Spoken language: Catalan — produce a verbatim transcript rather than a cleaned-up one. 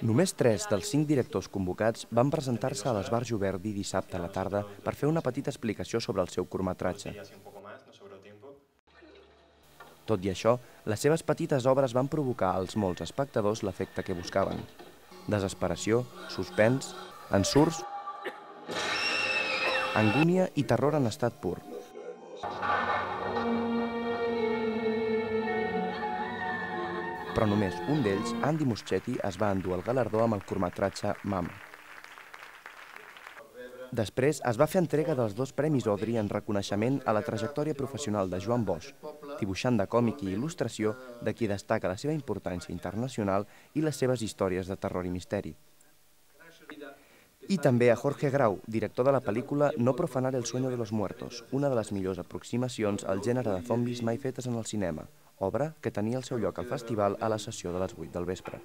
Només tres dels cinc directors convocats van presentar-se a l'Esbarjo Verdi dissabte a la tarda per fer una petita explicació sobre el seu curtmetratge. Tot i això, les seves petites obres van provocar als molts espectadors l'efecte que buscaven: desesperació, suspens, ensurts, angúnia i terror en estat pur. Però només un d'ells, Andy Muschietti, es va endur el galardó amb el curtmetratge Mama. Després es va fer entrega dels dos Premis Audrey en reconeixement a la trajectòria professional de Joan Bosch, dibuixant de còmic i il·lustració de qui destaca la seva importància internacional i les seves històries de terror i misteri. I també a Jorge Grau, director de la pel·lícula No profanar el sueño de los muertos, una de les millors aproximacions al gènere de zombis mai fetes en el cinema, obra que tenia el seu lloc al festival a la sessió de les vuit del vespre.